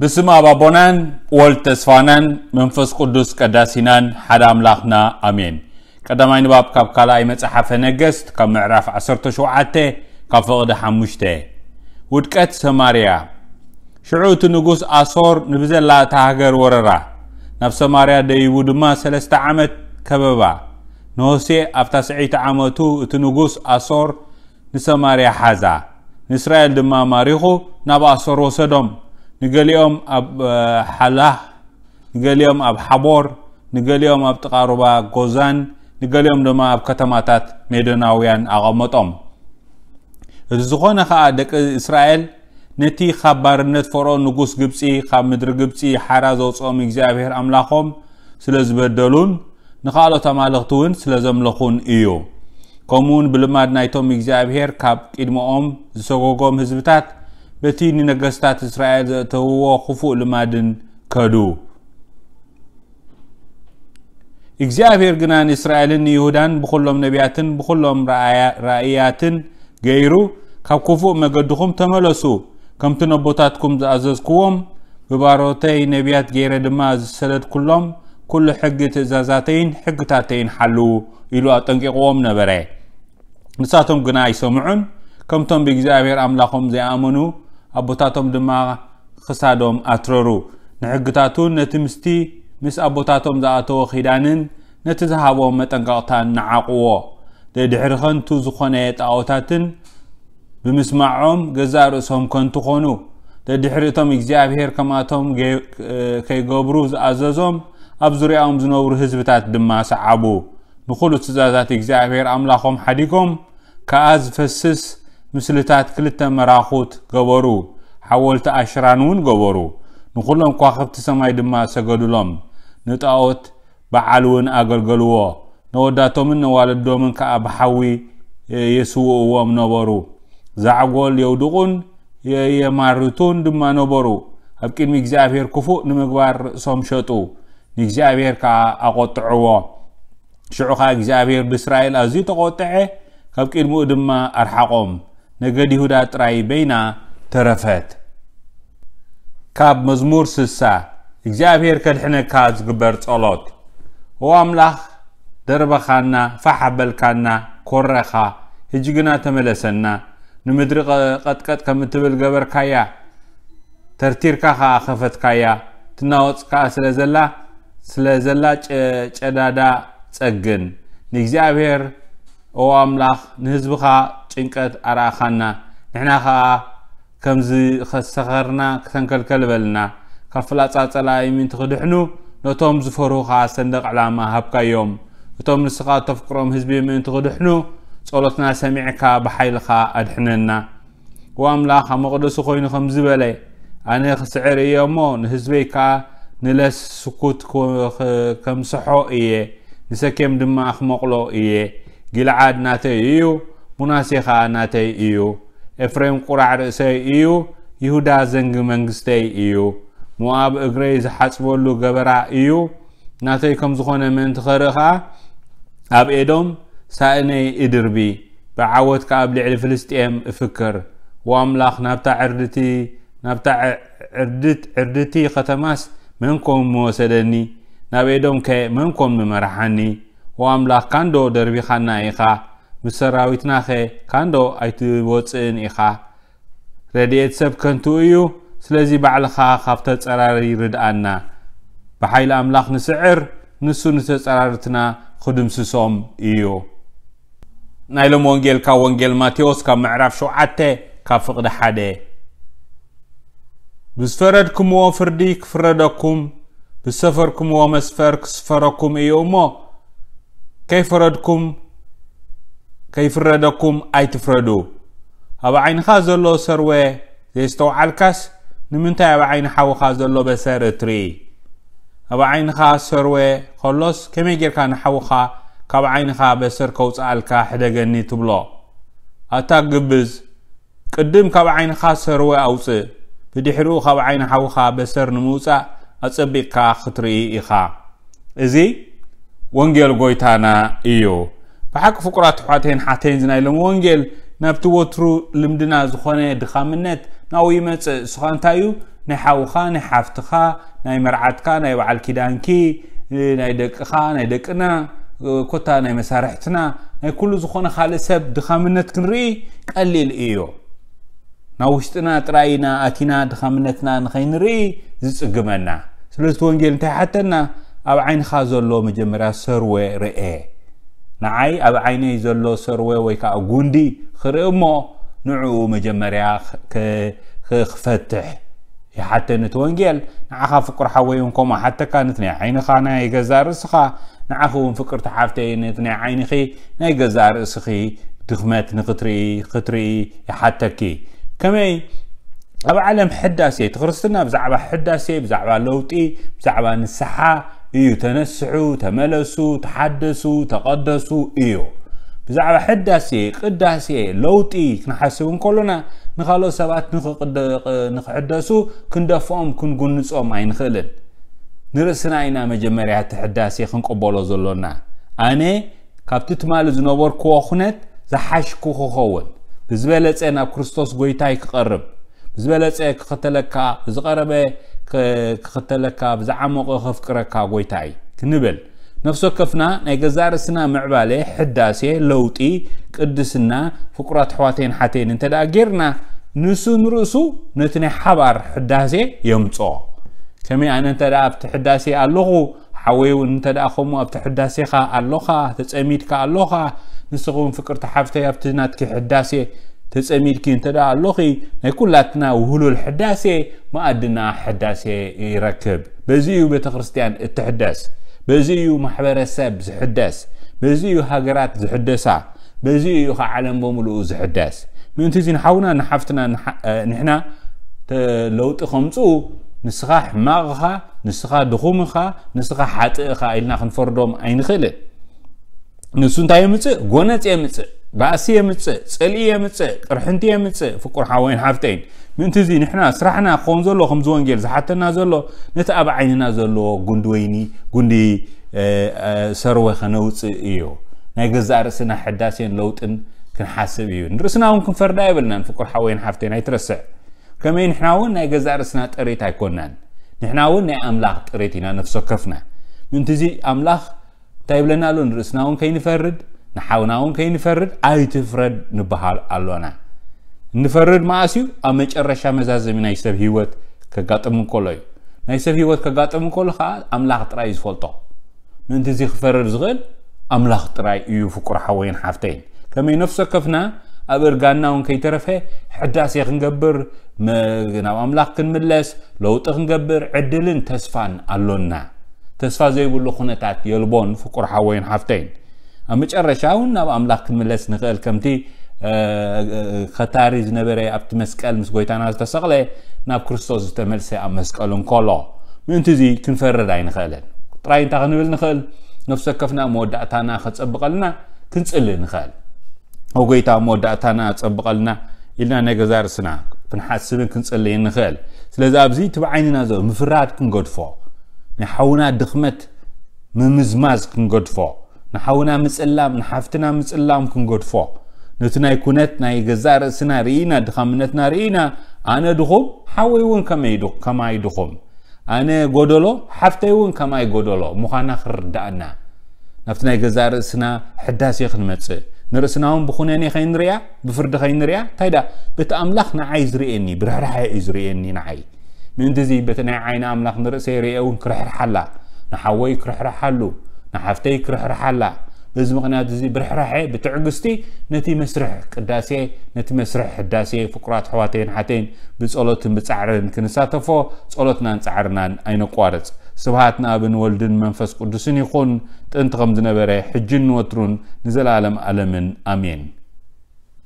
ብስም ኣብ ኣቦናን ወልድ ተስፋናን መንፈስ ቅዱስ ቀዳሲናን ሓደ ኣምላኽና ኣሜን። ቀዳማይ ንባብ ካብ ካልኣይ መጽሓፈ ነገስት ካብ ምዕራፍ ዓሰርተ ሸውዓተ ካብ ፍቕዲ ሓሙሽተ። ውድቀት ሰማርያ። ሽዑ እቲ ንጉስ ኣሶር ንብዘላ እታ ሃገር ወረራ፣ ናብ ሰማርያ ደይቡ ድማ ሰለስተ ዓመት ከበባ። ንሆሴዕ ኣብ ታስዐይቲ ዓመቱ እቲ ንጉስ ኣሶር ንሰማርያ ሓዛ፣ ንእስራኤል ድማ ማሪኹ ናብ ኣሶር ወሰዶም። ንገሊኦም ኣብ ሓላህ፣ ንገሊኦም ኣብ ሓቦር፣ ንገሊኦም ኣብ ጥቓ ሩባ ጎዛን፣ ንገሊኦም ድማ ኣብ ከተማታት ሜዶናውያን ኣቐመጦም። እቲ ዝኾነ ኸኣ ደቂ እስራኤል ነቲ ካብ ባርነት ፈርኦን ንጉስ ግብጺ፣ ካብ ምድሪ ግብጺ ሓራ ዘውጽኦም እግዚኣብሔር ኣምላኾም ስለ ዝበደሉን ንኻልኦት ኣማልኽቲ እውን ስለ ዘምለኹን እዩ። ከምኡውን ብልማድ ናይቶም እግዚኣብሔር ካብ ቅድመኦም ዝሰጎጎም ህዝብታት በቲ ንነገስታት እስራኤል ዘእተውዎ ክፉእ ልማድን ከዱ። እግዚኣብሔር ግና ንእስራኤልን ንይሁዳን ብኹሎም ነቢያትን ብኹሎም ራእያ-፣ ራእያትን ገይሩ፣ ካብ ክፉእ መገድኹም ተመለሱ፣ ከምቲ ነቦታትኩም ዝኣዘዝክዎም፣ ብባሮተይ ነቢያት ገይረ ድማ ዝሰደድኩሎም ኩሉ ሕጊ ትእዛዛተይን ሕግታተይን ሓልዉ ኢሉ ኣጠንቂቕዎም ነበረ። ንሳቶም ግና ኣይሰምዑን፣ ከምቶም ብእግዚኣብሔር ኣምላኾም ዘይኣመኑ ኣቦታቶም ድማ ክሳዶም ኣትረሩ። ንሕግታቱን ነቲ ምስቲ ምስ ኣቦታቶም ዝኣተወ ኺዳንን ነቲ ዝሃቦም መጠንቀቕታን ነዓቕዎ። ደድሕሪ ኸንቱ ዝኾነ ጣዖታትን ብምስማዖም ገዛእ ርእሶም ከንቱ ኾኑ። ደድሕሪ እቶም እግዚኣብሔር ከምኣቶም ገ-፣ ከይገብሩ ዝኣዘዞም ኣብ ዙርያኦም ዝነብሩ ህዝብታት ድማ ሰዓቡ። ንኹሉ ትእዛዛት እግዚኣብሔር ኣምላኾም ሓዲጎም ከኣ ዝፈስስ ምስልታት ክልተ መራኹት ገበሩ። ሓወልቲ ኣሽራን እውን ገበሩ። ንኹሎም ከዋኽብቲ ሰማይ ድማ ሰገዱሎም። ንጣዖት በዓል እውን ኣገልገልዎ። ነወዳቶምን ነዋልዶምን ከኣ ብሓዊ የስውእዎም ነበሩ። ዛዕጎል የውድቑን የ-፣ የማርቱን ድማ ነበሩ። ኣብ ቅድሚ እግዚኣብሔር ክፉእ ንምግባር ርእሶም ሸጡ። ንእግዚኣብሔር ከኣ ኣቖጥዕዎ። ሽዑ ኸኣ እግዚኣብሔር ብእስራኤል ኣዝዩ ተቖጥዐ፣ ካብ ቅድሚኡ ድማ ኣርሓቖም። ነገድ ይሁዳ ጥራይ በይና ተረፈት። ካብ መዝሙር ስሳ። እግዚኣብሔር ከድሕነካ ዝግበር ጸሎት። ኦ ኣምላኽ፣ ደርበኻና፣ ፋሕ ኣበልካና፣ ኮረኻ፣ ሕጂ ግና ተመለሰና። ንምድሪ ቀ-፣ ቀጥቀጥ ከም እትብል ገበርካያ፣ ተርቲርካ ኸኣ ኸፈትካያ። ትናወጽ ከኣ ስለ ዘላ፣ ስለ ዘላ ጨ-፣ ጨዳዳ ጸግን። ንእግዚኣብሔር፣ ኦ ኣምላኽ፣ ንህዝብኻ ጭንቀት ኣርኣኻና። ንሕና ኸኣ ከምዚ ኸሰኸርና ክተንከልከል በልና። ካብ ፍላጻ ጸላኢ ምእንቲ ክድሕኑ፣ ነቶም ዝፈርሁኻ ሰንደቕ ዕላማ ሃብካዮም። እቶም ንስኻ እተፍቅሮም ህዝቢ ምእንቲ ክድሕኑ፣ ጸሎትና ሰሚዕካ ብሓይልኻ ኣድሕነና። ወኣምላኽ ኣብ መቕደሱ ኾይኑ ከምዚ በለ፣ ኣነ ክስዕር እየ እሞ፣ ንህዝበይ ከኣ ንለስ ስኩት ክ-፣ ክ-፣ ከምስሖ እየ። ንሰኬም ድማ ክመቕሎ እየ። ጊልዓድ ናተይ እዩ፣ ሙናሴ ኸኣ ናተይ እዩ። ኤፍሬም ቁራዕ ርእሰይ እዩ፣ ይሁዳ ዘንጊ መንግስተይ እዩ። ሞኣብ እግረይ ዝሓጽበሉ ገበራ እዩ። ናተይ ከም ዝኾነ ምእንቲ ኸርኢ ኸኣ፣ ኣብ ኤዶም ሳእነይ እድርቢ፣ ብዓወት ከኣ ኣብ ልዕሊ ፍልስጥኤም እፍክር። ወኣምላኽ ናብታ ዕርድቲ፣ ናብታ ዕ-፣ ዕርድት-፣ ዕርድቲ ኸተማስ መን ኮን ምወሰደኒ? ናብ ኤዶምከ መን ኮን ምመርሓኒ? ወኣምላኽ ካንዶ ደርቢኻና ኢኻ? ምስ ሰራዊትናኸ ካንዶ ኣይትወጽእን ኢኻ? ረድኤት ሰብ ከንቱ እዩ። ስለዚ ባዕልኻ ካብ ተጸራሪ ርድኣና። ብሓይሊ ኣምላኽ ንስዕር፣ ንሱ ንተጸራርትና ክድምስሶም እዩ። ናይ ሎም ወንጌል ካብ ወንጌል ማቴዎስ ካብ ምዕራፍ ሸውዓተ ካብ ፍቕዲ ሓደ። ብዝፈረድክምዎ ፍርዲ ክፍረደኩም፣ ብዝሰፈርክምዎ መስፈር ክስፈረኩም እዩ እሞ፣ ከይፈረድኩም፣ ከይፍረደኩም ኣይትፍረዱ። ኣብ ዓይንኻ ዘሎ ሰርወ ዘይስተውዓልካስ፣ ንምንታይ ኣብ ዓይኒ ሓውኻ ዘሎ በሰር እትርኢ? ኣብ ዓይንኻ ሰርወ ከሎስ፣ ከመይ ጌርካ ንሓውኻ ካብ ዓይንኻ በሰር ከውጽኣልካ ሕደገኒ ትብሎ? ኣታ ግብዝ፣ ቅድም ካብ ዓይንኻ ሰርወ ኣውጽእ፣ ብድሕሪኡ ካብ ዓይኒ ሓውኻ በሰር ንምውጻእ ኣጸቢቕካ ክትርኢ ኢኻ። እዚ ወንጌል ጎይታና እዩ። ብሓቂ ፍቁራት ኣሕዋተይን ሓተይን፣ እዚ ናይ ሎሚ ወንጌል ናብቲ ወትሩ ልምድና ዝኾነ ድኻምነት ናብኡ ይመጽእ። እሱ ኸኣ እንታይ እዩ? ናይ ሓውኻ፣ ናይ ሓፍትኻ፣ ናይ መርዓትካ፣ ናይ በዓል ኪዳንኪ፣ ናይ ደቅኻ፣ ናይ ደቅና፣ ኮታ ናይ መሳርሕትና፣ ናይ ኩሉ ዝኾነ ካልእ ሰብ ድኻምነት ክንርኢ ቀሊል እዩ። ናብ ውሽጥና ጥራይ ኢና ኣቲና ድኻምነትና ንኸይንርኢ ዝጽግመና። ስለዚ እቲ ወንጌል እንታይ ሓተና? ኣብ ዓይንኻ ዘሎ መጀመርያ ሰርወ ርኤ። ንዓይ ኣብ ዓይነይ ዘሎ ሰርወ ወይ ከዓ ጉንዲ ክርኢ እሞ ንዕኡ መጀመርያ ክ-፣ ክ-፣ ክፈትሕ ይሓተኒ እቲ ወንጌል። ንዓኻ ፍቁር ሓወይ እውን ከምኡ ሓተካ፣ ነቲ ናይ ዓይንኻ ናይ ገዛእ ርእስኻ፣ ንዓኺ እውን ፍቅርቲ ሓፍተይ ነቲ ናይ ዓይንኺ ናይ ገዛእ ርእስኺ ድኽመት ንኽትርኢ፣ ክትርኢ ይሓተኪ። ከመይ ኣብ ዓለም ሕዳሴ፣ እቲ ክርስትና ብዛዕባ ሕዳሴ፣ ብዛዕባ ለውጢ፣ ብዛዕባ ንስሓ እዩ። ተነስሑ፣ ተመለሱ፣ ተሓደሱ፣ ተቐደሱ እዩ። ብዛዕባ ሕዳሴ፣ ቅዳሴ፣ ለውጢ ክንሓስብ እንከሎና ንኻልኦት ሰባት ንኽቕደ-፣ ንኽሕደሱ ክንደፍኦም፣ ክንጉንጾም ኣይንኽእልን። ንርእስና ኢና መጀመርያ እቲ ሕዳሴ ክንቅበሎ ዘሎና። ኣነ ካብቲ ትማሊ ዝነበርክዎ ኩነት ዝሓሽኩ ክኸውን፣ ብዝበለጸ ናብ ክርስቶስ ጎይታይ ክቐርብ፣ ብዝበለጸ ክኽተለካ፣ ብዝቐረበ ክ-፣ ክኽተለካ፣ ብዝዓመቐ ከፍቅረካ ጎይታይ ክንብል፣ ነፍሲ ወከፍና ናይ ገዛእ ርእስና ምዕባለ፣ ሕዳሴ፣ ለውጢ፣ ቅድስና፣ ፍቁራት ኣሕዋተይን ሓተይን እንተ ደኣ ጌርና፣ ንሱ ንርእሱ ነቲ ናይ ሓባር ሕዳሴ የምጽኦ። ከመይ ኣነ እንተ ደኣ ኣብቲ ሕዳሴ ኣለኹ፣ ሓወይ እውን እንተ ደኣ ከምኡ ኣብቲ ሕዳሴኻ ኣሎኻ፣ ተጸሚድካ ኣሎኻ፣ ንስኺ እውን ፍቅርቲ ሓፍተይ ኣብቲ ናትኪ ሕዳሴ ተጸሚድኪ እንተ ደኣ ኣሎኺ፣ ናይ ኩላትና ውህሉል ሕዳሴ መኣድና ሕዳሴ ይረክብ። በዚ እዩ ቤተ ክርስቲያን እትሕደስ። በዚ እዩ ማሕበረሰብ ዝሕደስ። በዚ እዩ ሃገራት ዝሕደሳ። በዚ እዩ ኸዓ ዓለም በሙሉኡ ዝሕደስ። ምእንቲ እዚ ንሓውና ንሓፍትና ንሓ-፣ እ፣ ንሕና ተ-፣ ለውጢ ከምጽኡ፣ ንስኻ ሕማቕ ኢኻ፣ ንስኻ ድኹም ኢኻ፣ ንስኻ ሓጥእ ኢኻ ኢልና ክንፈርዶም ኣይንኽእልን። ንሱ እንታይ የምጽእ? ጎነጽ የምጽእ፣ ባእሲ የምጽእ፣ ጽልኢ የምጽእ፣ ቅርሕንቲ የምጽእ። ፍቁር ሓወይን ሓፍተይን፣ ምእንቲ እዚ ንሕና ስራሕና ክኸውን ዘሎ፣ ከምዚ ወንጌል ዝሓተና ዘሎ፣ ነቲ ኣብ ዓይንና ዘሎ ጉንዲ ወይኒ፣ ጉንዲ፣ እ፣ እ፣ ሰርወ ከነውጽእ እዩ። ናይ ገዛእ ርእስና ሕዳሴን ለውጥን ክንሓስብ እዩ። ንርእስና እውን ክንፈርዳ የብልናን። ፍቁር ሓወይን ሓፍተይን ኣይትረስዕ። ከመይ ንሕና እውን ናይ ገዛእ ርእስና ጥሪት ኣይኮናን። ንሕና እውን ናይ ኣምላኽ ጥሪት ኢና፣ ነፍሲ ወከፍና። ምእንቲ እዚ ኣምላኽ እንታይ ይብለና ኣሎ? ንርእስና እውን ከይንፈርድ፣ ንሓውና እውን ከይንፈርድ፣ ኣይትፍረድ ንበሃል ኣሎና። እንፈርድ መኣስ እዩ? ኣብ መጨረሻ መዛዘሚ ናይ ሰብ ህይወት ከጋጥም እንከሎ እዩ። ናይ ሰብ ህይወት ከጋጥም እንከሎ ከዓ ኣምላኽ ጥራይ እዩ ዝፈልጦ። ምእንቲ እዚ ክፈርድ ዝኽእል ኣምላኽ ጥራይ እዩ። ፍቁር ሓወይን ሓፍተይን፣ ከመይ ነፍሲ ወከፍና ኣብ እርጋንና እውን ከይተረፈ ሕዳሴ ክንገብር፣ መ-፣ ናብ ኣምላኽ ክንምለስ፣ ለውጢ ክንገብር ዕድልን ተስፋን ኣሎና። ተስፋ ዘይብሉ ኩነታት የልቦን። ፍቁር ሓወይን ሓፍተይን፣ ኣብ መጨረሻ እውን ናብ ኣምላኽ ክንምለስ ንኽእል። ከምቲ፣ እ፣ እ፣ ኸታሪ ዝነበረ ኣብቲ መስቀል ምስ ጎይታና ዝተሰቕለ፣ ናብ ክርስቶስ ዝተመልሰ ኣብ መስቀል እንከሎ፣ ምእንቲ እዚ ክንፈርድ ኣይንኽእልን። ጥራይ እንታይ ክንብል ንኽእል? ነፍሲ ወከፍና መወዳእታና ከጸብቐልና ክንጽሊ ንኽእል። "ኦ ጎይታ፣ መወዳእታና ጸብቐልና" ኢልና ናይ ገዛ ርእስና ክንሓስብን ክንጽልይን ንኽእል። ስለዚ ኣብዚ እቲ ብዓይንና ዘሎ ምፍራድ ክንገድፎ፣ ናይ ሓውና ድኽመት ምምዝማዝ ክንገድፎ፣ ንሓውና ምጽላም፣ ንሓፍትና ምጽላም ክንገድፎ፣ ነቲ ናይ ኩነት ናይ ገዛእ ርእስና ርኢና፣ ድኻምነትና ርኢና፣ ኣነ ድኹም፣ ሓወይ እውን ከመይ ድኹ-፣ ከማይ ድኹም፣ ኣነ ጎደሎ፣ ሓፍተይ እውን ከማይ ጎደሎ ምዃና ክርድኣና፣ ናብቲ ናይ ገዛእ ርእስና ሕዳሴ ክንመጽእ፣ ንርእስና እውን ብኹነኔ ከይንሪኣ፣ ብፍርዲ ከይንሪኣ፣ እንታይ ደኣ፣ በቲ ኣምላኽ ንዓይ ዝርእየኒ፣ ብርሕራሐ እዩ ዝርእየኒ ንዓይ። ምእንቲ እዚ በቲ ናይ ዓይኒ ኣምላኽ ንርእሰይ ርእየ እውን ክርሕርሓላ፣ ንሓወይ ክርሕርሓሉ፣ ንሓፍተይ ክርሕርሓላ። በዚ ምኽንያት እዚ ብርሕራሐ፣ ብትዕግስቲ ነቲ መስርሕ ቅዳሴ፣ ነቲ መስርሕ ሕዳሴ ፍቁራት ኣሕዋተይን ሓተይን ብጸሎትን ብጻዕርን ክንሳተፎ ጸሎትናን ጻዕርናን ኣይነቋርጽ። ስብሃት ንኣብን ወልድን መንፈስ ቅዱስን ይኹን፣ ጥንቲ ከም ዝነበረ፣ ሕጅን ንወትሩን ንዘለኣለም ኣለምን። ኣሜን።